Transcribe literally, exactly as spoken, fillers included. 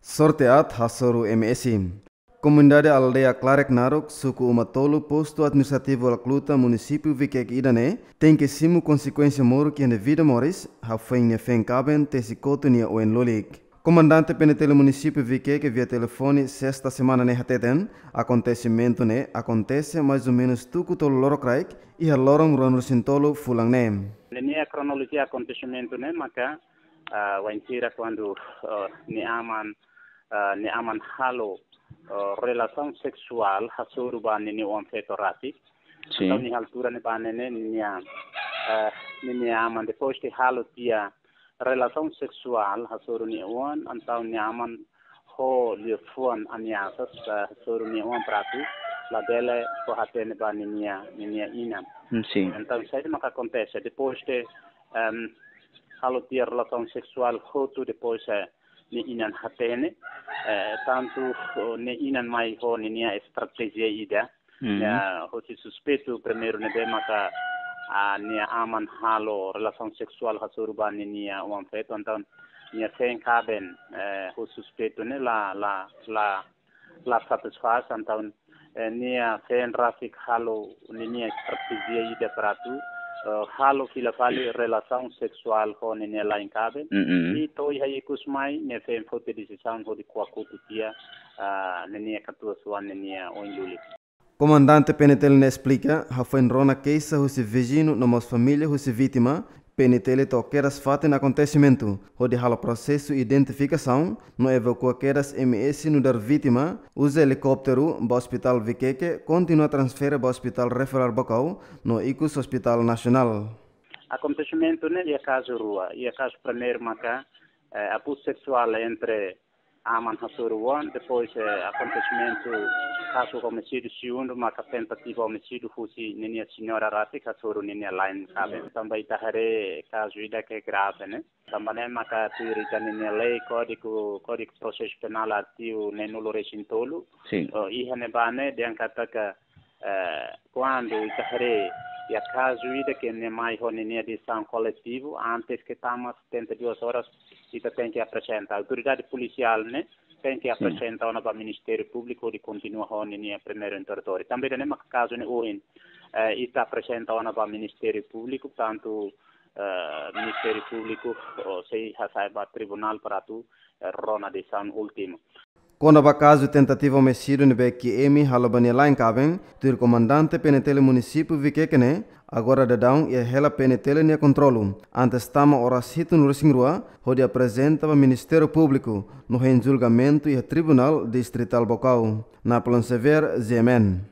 Sorte aat hasoru M S. Komunidade aldeia Klarek Naruk, suku Uma Tolu, postu administrativu Alakluta, munisípiu Vikeke ida-ne'e, tenke simu konsekuénsia moruk iha nia vida moris, hafoin nia feen kaben tesi kotu nia oin lulik. Komandante P N T L munisípiu Vikeke via telefone sesta semana ne'e hateten, akontesimentu ne'e akontese mais ou menus tuku tolu lorokraik, iha loron ruanulu-resin-tolu fulan ne'e. Ninia kronolojia akontesimentu ne'e maka, ah, wainhira kuandu, ah, nia aman, ah, nia aman halo, ah, relasaun seksuál hasoru ba ninia oan-feto rasik. Sin. Entaun iha altura ne'ebá ne'e ninia, ah, ninia aman depois de halo tiha relasaun seksuál hasoru nia oan, entaun nia aman ho liafuan ameasas, ah, hasoru nia oan para atu labele fó-hatene ba ninia, ninia inan. Mm, sin. Entaun saida maka akontese depois de, ehm, halo tiha relasaun seksuál hotu depois, eh, nia inan hatene, eh, tantu, oh, nia inan mai ho ninia estratéjia ida. Mhm. Ya, hosi suspeitu primeiru ne'ebé maka, ah, nia aman halo relasaun seksuál hasoru ba ninia oan-feto, entaun nia feen kaben, eh, ho suspeitu ne'e la, la, la, la satisfás, entaun, eh, nia feen rasik halo ninia estratéjia ida para atu, eh, halo fila fali relasaun seksuál ho ninia la'en kaben. Mhm. I to'o iha ikus mai, nia feen foti desizaun hodi ko'a kotu tiha, ah, ninia katuas-oan ninia oin lulik. Komandante P N T L ne'e esplika, hafoin rona keixa husi viziñu no mós família husi vítima, P N T L to'o kedas fatin akontesimentu, hodi halo prosesu identifikasaun, no evakua kedas M S nu'udar vítima, uza elikópteru, ba ospitál Vikeke, kontinua transfere ba ospitál referál Baucau, no ikus ospitál nasionál. Akontesimentu ne'e iha kazu rua, iha kazu primeiru maka, eh, abuzu seksuál entre aman hasoru oan, depois, eh, akontesimentu kazu omisídiu segundu, maka tentativa omisídiu husi ninia señora rasik hasoru ninia la'en kaben. Tanba ita haree kazu ida ke grave, ne'e. Tanba ne'e maka tuir ita ninia lei, kódigu, Kódigu Prosesu Penál artigu neenulu-resin-tolu. Sin. Oh, iha ne'ebá ne'e dehan katak, eh, kuandu ita haree iha kazu ida ke nia mai ho ninia desizaun koletivu, antes ke tama setenta e duas horas, ita tenke aprezenta. Autoridade polisiál ne'e tenke, sin, aprezenta ona ba Ministériu Públiku hodi kontinua ho ninia primeiru interrogatóriu. Tanba ida-ne'e maka kazu ne'e ohin, eh, ita aprezenta ona ba Ministériu Públiku, tantu, eh, Ministériu Públiku, oh, sei hasai ba tribunál para atu, eh, rona desizaun últimu. Kona-ba kazu tentativa omisídiu ne'ebé K M halo ba nia la'en kaben, tuir komandante P N T L munisípiu Vikeke ne'e, agora daudaun iha hela P N T L nia kontrolu. Antes tama oras hitu-nulu-resin-rua, hodi aprezenta ba Ministériu Públiku, no hein julgamentu iha Tribunál Distritál Baucau. Napoleon Xavier, G M N.